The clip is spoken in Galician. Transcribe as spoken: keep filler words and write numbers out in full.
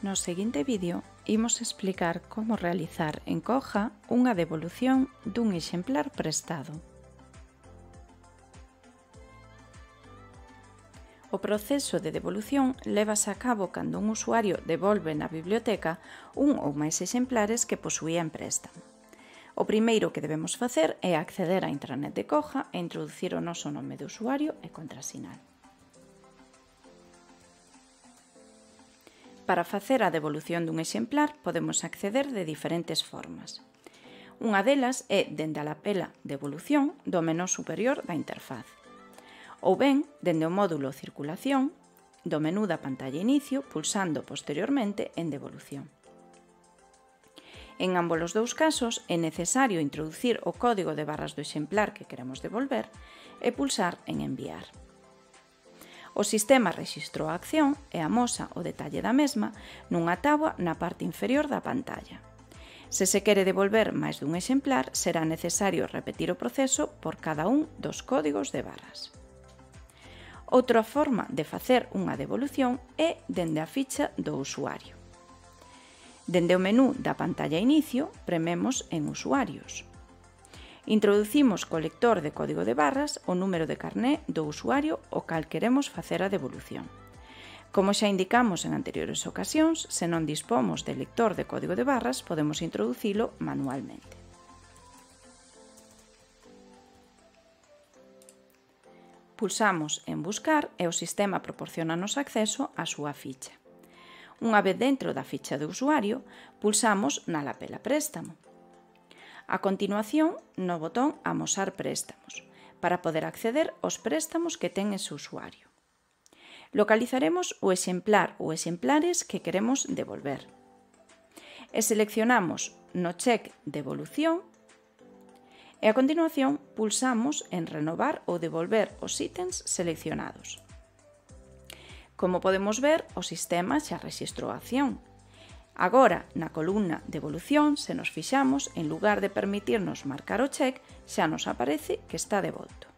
No seguinte vídeo imos explicar como realizar en Coja unha devolución dun exemplar prestado. O proceso de devolución lévase a cabo cando un usuario devolve na biblioteca un ou máis exemplares que posuía en préstamo. O primeiro que debemos facer é acceder á intranet de Coja e introducir o noso nome de usuario e contrasinal. Para facer a devolución dun exemplar podemos acceder de diferentes formas. Unha delas é dende a lapela Devolución do menú superior da interfaz, ou ben dende o módulo Circulación do menú da pantalla Inicio pulsando posteriormente en Devolución. En ambos os dous casos é necesario introducir o código de barras do exemplar que queremos devolver e pulsar en Enviar. O sistema rexistrou a acción e amosa o detalle da mesma nunha táboa na parte inferior da pantalla. Se se quere devolver máis dun exemplar, será necesario repetir o proceso por cada un dos códigos de barras. Outra forma de facer unha devolución é dende a ficha do usuario. Dende o menú da pantalla Inicio, prememos en Usuarios. Introducimos co lector de código de barras o número de carné do usuario ao cal queremos facer a devolución. Como xa indicamos en anteriores ocasións, se non dispomos de lector de código de barras, podemos introducilo manualmente. Pulsamos en Buscar e o sistema proporciónanos acceso á súa ficha. Unha vez dentro da ficha de usuario, pulsamos na lapela Préstamo. A continuación, no botón Amosar préstamos, para poder acceder aos préstamos que ten ese usuario. Localizaremos o exemplar ou exemplares que queremos devolver. E seleccionamos no check Devolución e a continuación pulsamos en Renovar ou devolver os ítems seleccionados. Como podemos ver, o sistema xa rexistrou a acción. Agora, na columna Devolución, se nos fixamos, en lugar de permitirnos marcar o check, xa nos aparece que está devolto.